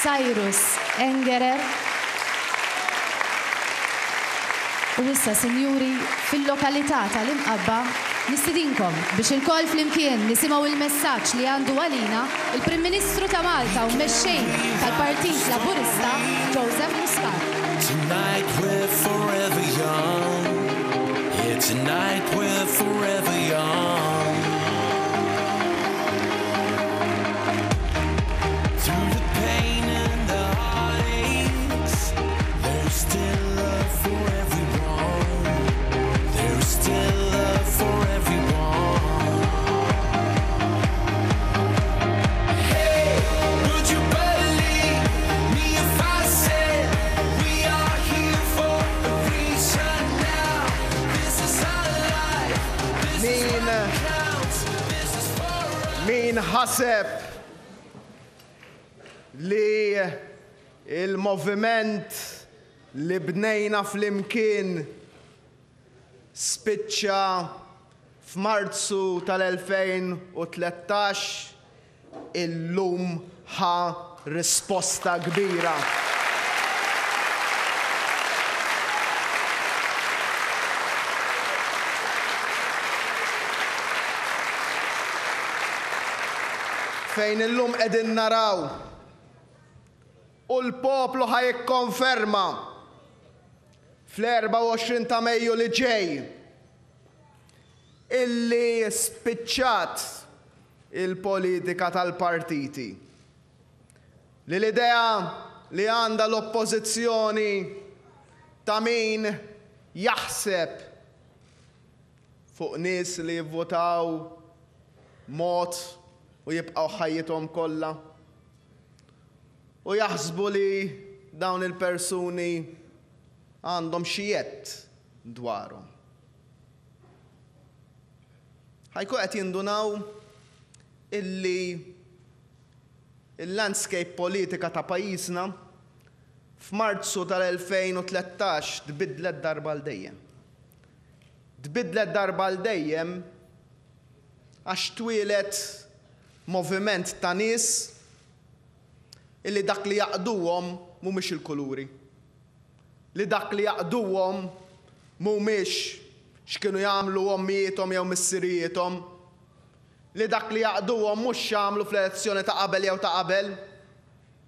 Cyrus Engerer. U issa, sinjuri, fil-lokalità tal-Imqabba, nistidinkom biex ilkoll flimkien nisimgħu l-messaġġ li għandu għalina l-Prim Ministru ta' Malta u Mexxej tal-Partit Laburista, Joseph Muscat. Tonight we're forever young. Yeah, tonight we're forever young. Through the pain and the heartaches, there's still love for everyone. There's still love for everyone. Hey, would you believe me if I said we are here for a reason now? This is our life. This is Min what counts. This is for us. Min ħaseb li il-moviment li bnejna flimkien spiċċa f'Marzu tal-2013 illum ħa risposta kbira. Fejn illum qegħdin naraw u l-poplu ħa jikkonferma fl-24 ta' Mejju li ġej illi spiċċat il-politika tal-partiti. Li l-idea li għandha l-oppożizzjoni ta' min jaħseb fuq nies li jivvotaw mod u jibqgħu ħajjithom kollha u jaħsbu li dawn il-persuni għandhom xi jedd dwarhom. Ħa jkun qed jindunaw illi il-landscape politika ta' pajjiżna f'Marzu tal-2013 tbiddlet darba għal dejjem. Tbiddlet darba għal dejjem għax twieled moviment ta' nies illi dak li jgħaqqduhom mhumiex il-kuluri. Li dak li jgħaqqduhom mhumiex x'kienu jagħmlu ommijiethom jew missirijiethom. Li dak li jgħaqqduhom mhux x'għamlu fl-elezzjoni ta' qabel jew ta' qabel,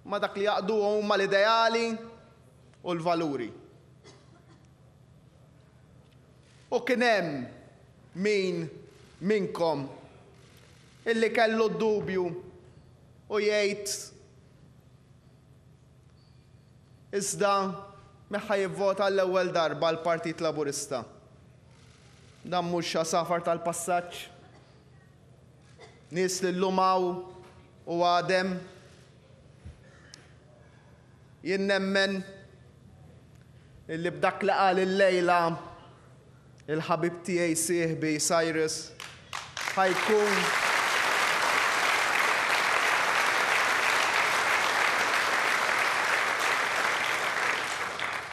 ma dak li jgħaqqduhom huma l-ideali u l-valuri. U kien hemm min minnkom illi kellu d-dubju u jgħid iżda min ħa jivvota l-ewwel darba l-Partit Laburista. Dan mhux għasafar tal-passaġġ. Nies li llum hawn u għadem. Jien nemmen illi b'dak li qal illejla il-ħabib tiegħi sieħbi Cyrus ħa jkun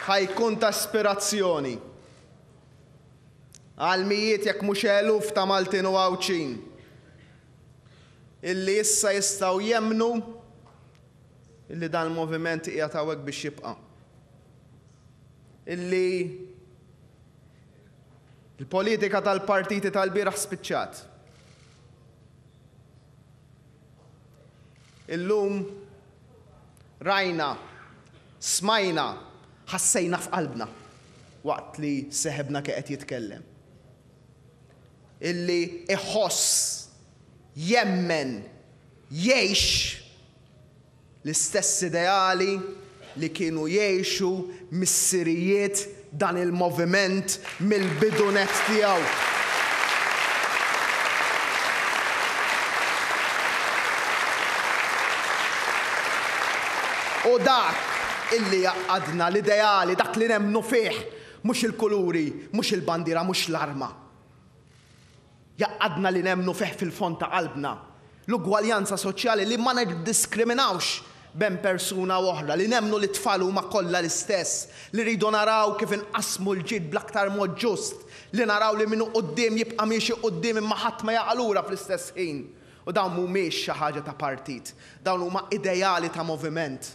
ħa jkun ta' ispirazzjoni għal mijiet jekk mhux eluf ta' Maltin u Għawdxin illi issa jistgħu jemmnu illi dan il-moviment qiegħed hawnhekk biex jibqa'. Illi il-politika tal-partiti tal-bieraħ spiċċat. Illum rajna, smajna, ħassejna f'qalbna waqt li seħebna qed jitkellem. Illi iħoss, jemmen, jgħix l-istess ideali li kienu jgħixu missirijiet dan il-moviment mill-bidu nett tiegħu. U dak illi jgħaqqadna l-ideali, dak li nemmnu fih, mhux il-kuluri, mhux il-bandiera, mhux l-arma. Jgħaqqadna li nemmnu fih fil-fond ta' qalbna, l-ugwaljanza soċjali li ma niddiskriminawx bejn persuna u oħra, li nemmnu li t-tfal huma kollha l-istess, li rridu naraw kif inqassmu l-ġid bl-aktar mod ġust, li naraw li min hu quddiem jibqa' miexi quddiem imma ħadd ma jaqa' lura fl-istess ħin. U dawn mhumiex xi ħaġa ta' partit, dawn huma ideali ta' moviment.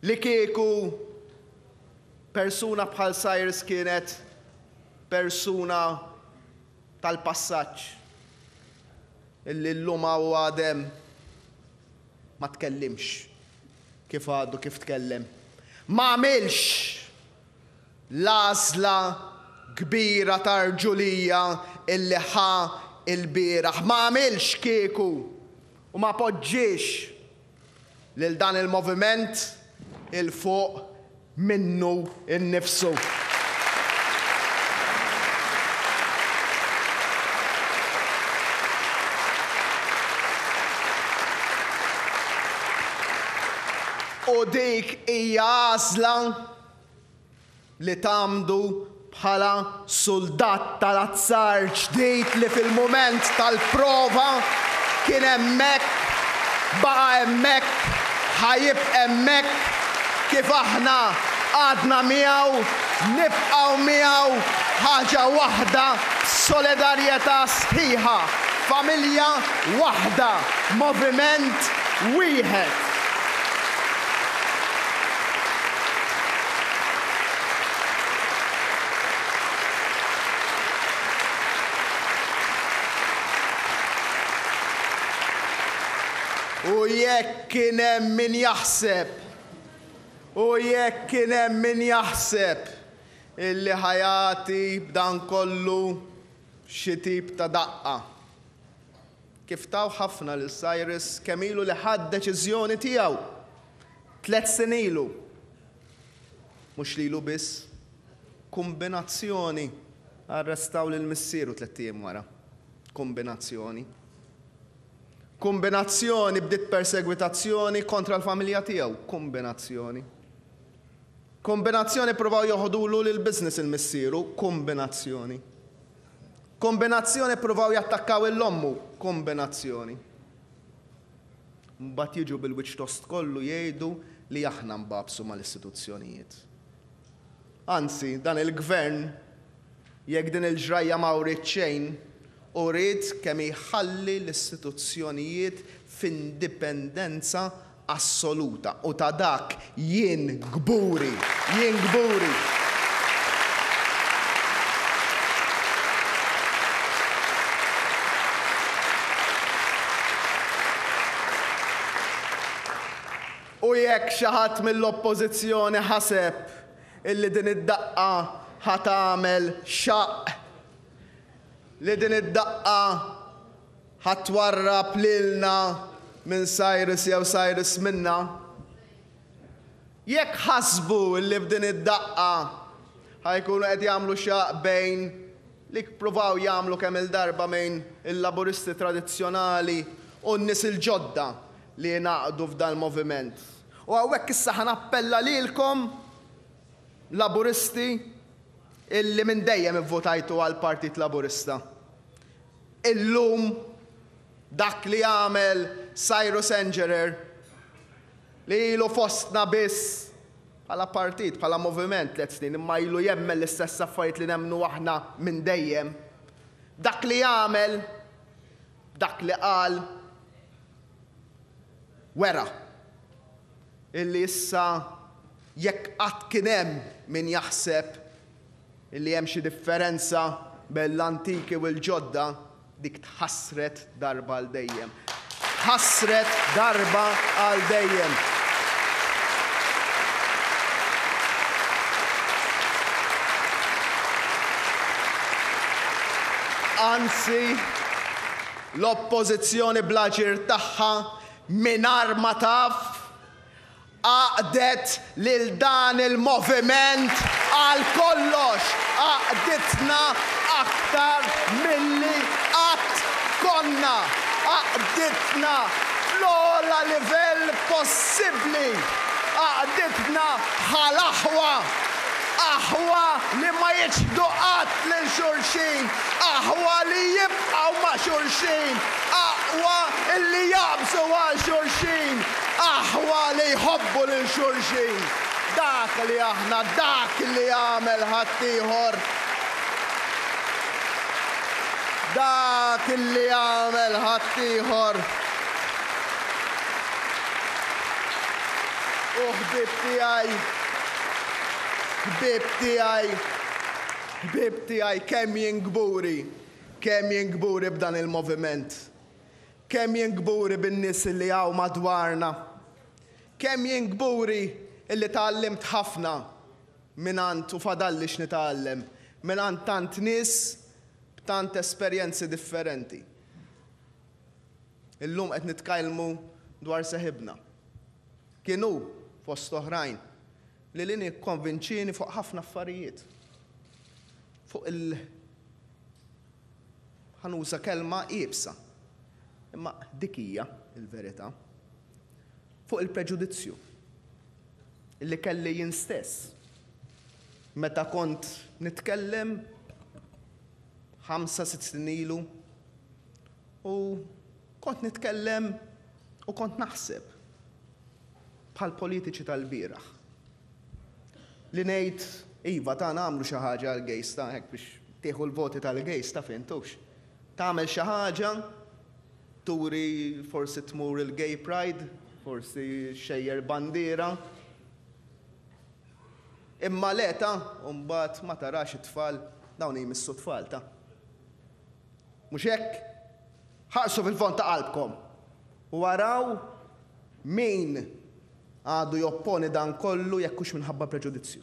Li kieku persuna bħal Cyrus kienet persuna tal-passaġġ illi llum hawn u għad hemm ma tkellimx kif għadu kif tkellem. Ma għamilx l-għażla kbira ta' rġulija illi ħa lbieraħ. Ma għamilx kieku u ma poġġiex lil dan il-moviment 'il fuq minnu nnifsu. U dik hija għażla li tgħammdu bħala suldat tal-azzar ġdid li fil-mument tal-prova kien hemmhekk, baqa' hemmhekk, ħa jibq' hemmhekk, kif aħna għadna miegħu, nibqgħu miegħu, ħaġa waħda b'solidarjetà sħiħa, familja waħda, moviment wieħed. U jekk kien hemm min jaħseb, u jekk kien hemm min jaħseb illi ħa jagħti b'dan kollu xi tip ta' daqqa. Kif taw ħafna lil Cyrus kemm ilu li ħa d-deċiżjoni tiegħu? Tlett snin ilu. Mhux lilu biss. Kumbinazzjoni arrestaw lil missieru tlett ijiem wara. Kumbinazzjoni. Kumbinazzjoni bdiet persegwitazzjoni kontra l-familja tiegħu. Kumbinazzjoni. Kumbinazzjoni ppruvaw joħodulu l-business il-missieru. Kumbinazzjoni. Kombinazzjoni ppruvaw jattakkaw 'il ommu. Kombinazzjoni. Mbagħad jiġu bil-wiċċ tost kollu jgħidu li aħna nbagħbsu mal-istituzzjonijiet. Anzi, dan il-Gvern, jekk din il-ġrajja ma wriet xejn, uriet kemm jħalli l-istituzzjonijiet f'indipendenza assoluta u ta' dak jien kburi, jien kburi. U jekk xi ħadd mill-Oppożizzjoni ħaseb illi din id-daqqa ħa tagħmel xaqq, li din id-daqqa Ħa twarrab lilna minn Cyrus jew Cyrus minna? Jekk ħasbu li b'din id-daqqa ħa jkunu qed jagħmlu xaqq bejn li ppruvaw jagħmlu kemm-il darba bejn il-Laburisti tradizzjonali u n-nies il-ġodda li ingħaqdu f'dal-moviment. U hawnhekk issa ħa nappella lilkom Laburisti illi minn dejjem ivvutajtu għall-Partit Laburista. Illum dak li għamel Cyrus Engerer, li ilu fostna biss bħala partit, bħala moviment tlett snin, imma ilu jemmen l-istess affarijiet li nemmnu aħna minn dejjem, dak li għamel, dak li qal, wera illi issa jekk qatt kien hemm min jaħseb Illi hemm xi differenza bejn l-antiki u l-ġodda, dik tħassret darba għal dejjem. Tħassret darba għal dejjem. Anzi, l-Oppożizzjoni bl-aġir tagħha mingħajr ma taf, Għaqdet lil dan il-moviment għal kollox, għaqditna aktar milli qatt konna, għaqditna fl-ogħla livell possibbli, għaqditna bħal aħwa, aħwa li ma jiċħdu qatt lil xulxin, aħwa li jibqgħu ma' xulxin, aqwa li jaqbżu għal xulxin. Aħwa li jħobbu lil xulxin. Dak li aħna, dak li għamel ħaddieħor. Dak li għamel ħaddieħor. U ħbieb tiegħi, ħbieb tiegħi, ħbieb tiegħi kemm jien kburi, kemm jien kburi b'dan il-moviment. Kemm jien kburi bin-nies li hawn madwarna. Kemm jien kburi illi tgħallimt ħafna mingħand u fadalli x'nitgħallem mingħand tant nies b'tant esperjenzi differenti. Illum qed nitkellmu dwar seħibna. Kien hu, fost oħrajn, li lini kkonvinċieni fuq ħafna affarijiet. Fuq il ħa nuża kelma iebsa, imma dik hija l-verità. Fuq il-preġudizzju li kelli jien stess meta kont nitkellem ħamsa, sitt snin ilu u kont nitkellem u kont naħseb bħall-politiċi tal-bieraħ. Li ngħid, iva ta' nagħmlu xi ħaġa għall-gays ta' hekk biex tieħu l-voti tal-gays taf int hux. Tagħmel xi ħaġa, turi forsi tmur il-gay pride, forsi xejjer bandiera. Imma le ta' u mbagħad ma tarax it-tfal, dawn jmissu t-tfal ta'. Mhux hekk? Ħarsu fil-fond ta' qalbkom u araw min għadu jopponi dan kollu jekk hux minħabba preġudizzju.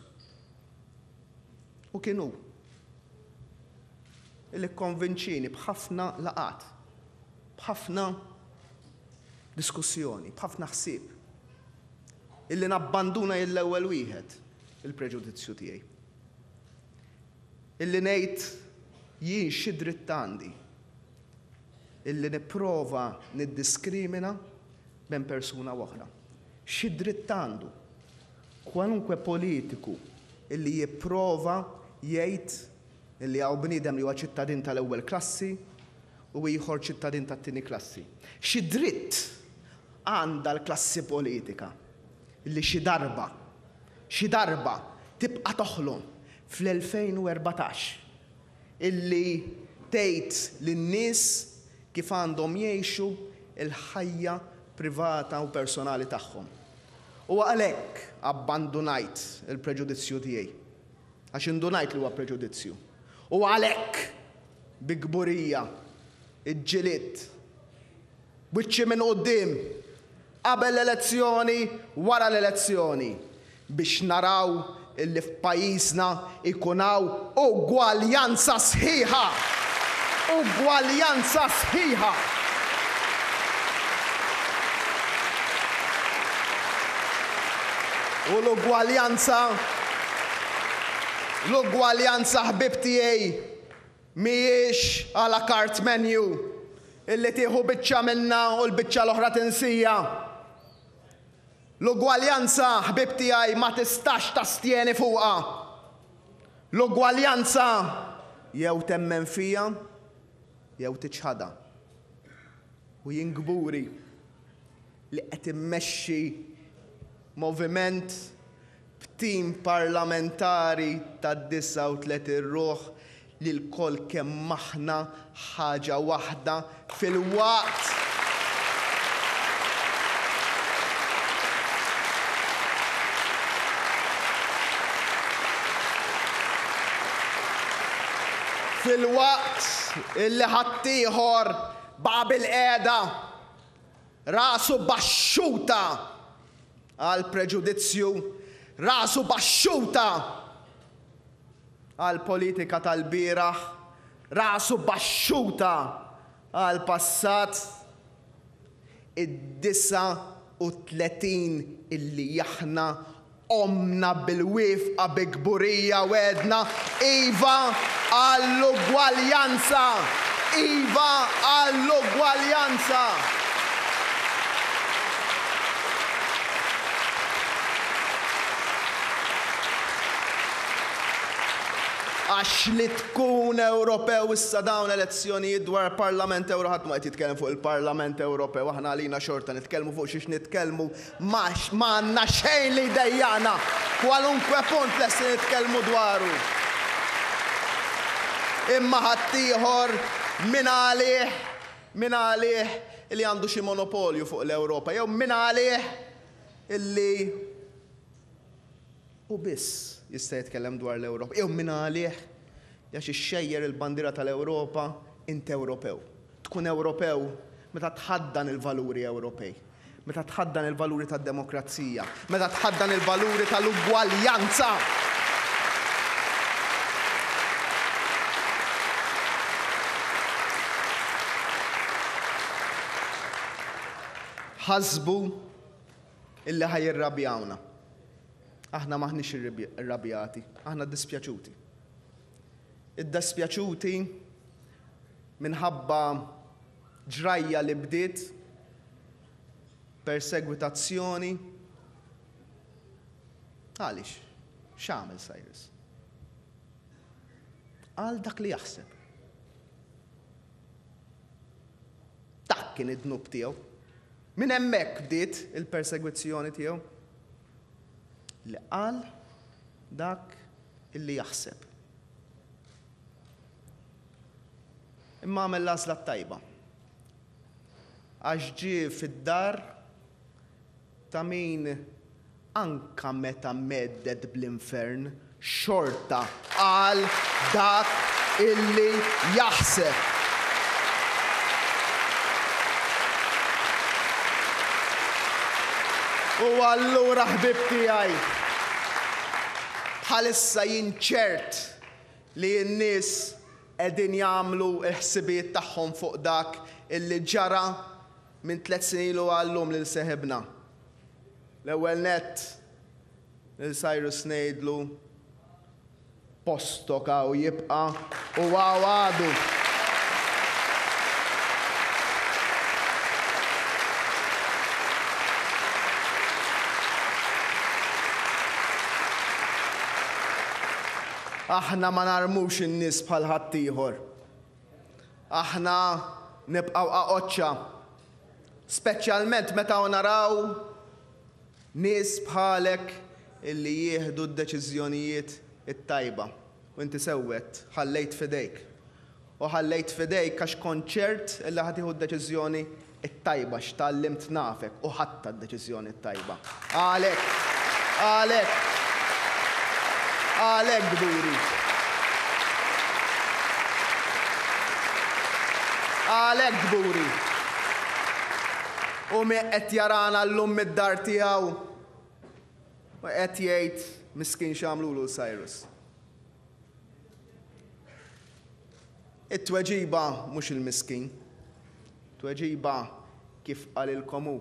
U kien hu li kkonvinċieni b'ħafna laqgħat, b'ħafna diskussjoni, b'ħafna ħsieb, illi nabbanduna jien l-ewwel wieħed il-preġudizzju tiegħi. Illi ngħid jien xi dritt għandi illi nipprova niddiskrimina bejn persuna u oħra. Xi dritt għandu kwalunkwe politiku illi jipprova jgħid illi hawn bniedem li huwa ċittadin tal-ewwel klassi u ieħor ċittadin tat-tieni klassi. Xi dritt għandha l-klassi politika illi xi darba, xi darba tibqa' toħlom fl-2014 illi tgħid lin-nies kif għandhom jgħixu l-ħajja privata u personali tagħhom. U għalhekk abbandunajt il-preġudizzju tiegħi. Għax indunajt li huwa preġudizzju. U għalhekk bi kburija ġġilidt Wiċċi minn quddiem, qabel l-elezzjoni, wara l-elezzjoni, biex naraw illi f'pajjiżna jkun hawn ugwaljanza sħiħa! Ugwaljanza sħiħa! U l-ugwaljanza, l-ugwaljanza ħbieb tiegħi, Mhijiex à la carte menu illi tieħu biċċa minnha u l-biċċa l-oħra tinsija. L-ugwaljanza, ħbieb tiegħi, ma tistax tastjeni fuqha. L-ugwaljanza jew temmen fiha jew tiċħadha. U jien kburi li qed immexxi moviment b'tim parlamentari ta' 39 ruħ li lkoll kemm aħna ħaġa waħda filwaqt filwaqt illi ħaddieħor baqa' bilqiegħda rasu baxxuta għall-preġudizzju, rasu baxxuta għall-politika tal-bieraħ, rasu baxxuta għall-passat, id-39 illi aħna qomna bil-wifqa bi kburija u għedna iva għall-ugwaljanza! Iva għall-ugwaljanza! Għax li tkun Ewropew issa dawn elezzjonijiet dwar Parlament Ewro ħadd ma qed jitkellem fuq il-Parlament Ewropew aħna għalina xorta nitkellmu fuq xiex nitkellmu Ma għandna xejn li jdejjaqna. Kwalunkwe punt lesti nitkellmu dwaru. Imma ħaddieħor min għalih, min għalih li għandu xi monopolju fuq l-Ewropa jew min għalih illi Hu biss jista' jitkellem dwar l-Ewropa. Jew min għalih li għax ixxejjer il-bandiera tal-Ewropa int Ewropew. Tkun Ewropew meta tħaddan il-valuri Ewropej, meta tħaddan il-valuri tad-demokrazija, meta tħaddan il-valuri tal-ugwaljanza. Ħasbu illi ħa jirrabjawna. Aħna m'aħniex irrabjati, aħna ddispjaċuti. Iddispjaċuti minħabba ġrajja li bdiet persegwitazzjoni. Għaliex? X'għamel Cyrus? Qal dak li jaħseb. Dak kien id-dnub tiegħu. Minn hemmhekk bdiet il-persegwizzjoni tiegħu. Li qal dak illi jaħseb. Imma għamel l-għażla t-tajba. Għax ġie fid-dar ta' min anka meta mhedded bl-infern xorta qal dak illi jaħseb. U allura ħbieb tiegħi, bħalissa jien ċert li n-nies qegħdin jagħmlu l-ħsibijiet tagħhom fuq dak illi ġara minn tlett snin ilu għal-lum lil seħibna. L-ewwel nett, lil Cyrus ngħidlu, Postok hawn jibqa' u hawn għadu. Aħna ma narmux in-nies bħal ħaddieħor. Aħna nibqgħu qaqoċċa. Speċjalment meta naraw nies bħalek illi jieħdu d-deċiżjonijiet it-tajba. U inti sewwet, ħallejt f'idejk. U ħallejt f'idejk għax kont ċert illi ħa tieħu d-deċiżjoni t-tajba għax tgħallimt nafek u ħadtha d-deċiżjoni t-tajba. Għalhekk, għalhekk, għalhekk kburi. Għalhekk kburi. U min qed jarana llum mid-dar tiegħu u qed jgħid miskin x'għamlulu 'l Cyrus. It-tweġiba mhux il-miskin. Tweġiba kif qalilkom hu.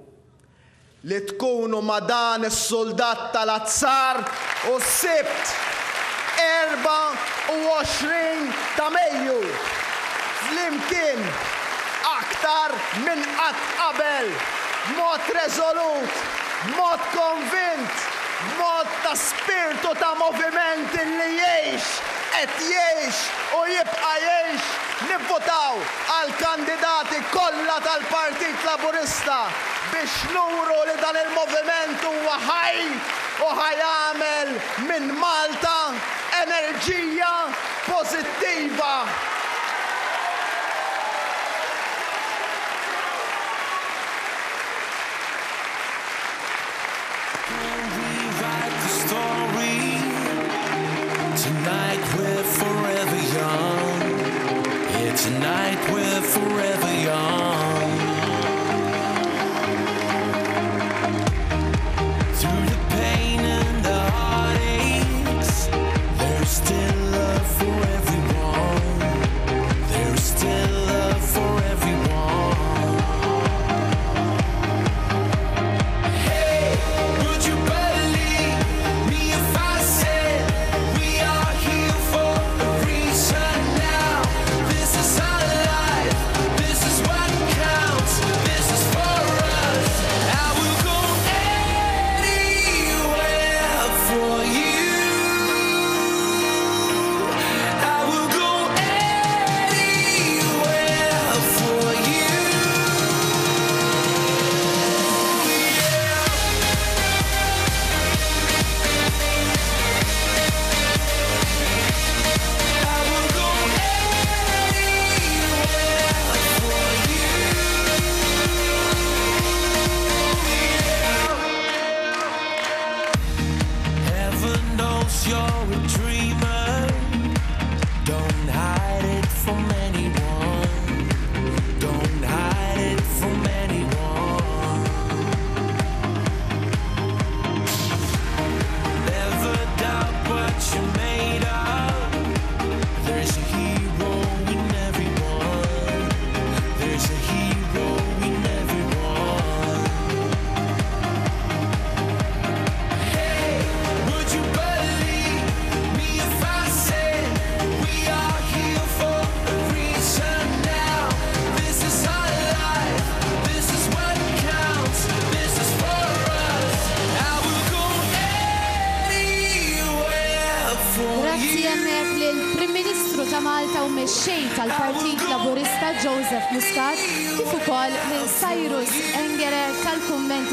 Li tkunu ma' dan is-suldat tal-azzar u s-Sibt 24 ta' Mejju flimkien aktar minn qatt qabel, b'mod reżolut, b'mod konvint, b'mod ta' spirtu ta' moviment li jgħix, qed jgħix u jibqa' jgħix, nivvutaw għall-kandidati kollha tal-Partit Laburista biex nuru li dan il-moviment huwa ħaj u ħa jagħmel minn Malta enerġija pożittiva. Rewrite the story. Tonight we're forever young. Yeah, tonight we're forever young. Through the pain and the heartaches, there's still love for everyone. There's still love for everyone. Hey, would you believe me if I said we are here for a reason now? This is our life, this is what Cause you're a dreamer. Don't hide it from anyone. Don't hide it from anyone. Never doubt what you're made of. There's a hero in everyone. There's a hero in everyone. Hey, would you believe me if I said we are here for a reason now? This is our life. This is what counts. This is for us. I will go anywhere for Grazzi you. hemmhekk lill-Prim Ministru ta' Malta u mexxej tal-Partit Laburista Joseph Muscat kif ukoll lil Cyrus Engerer tal-kummenti.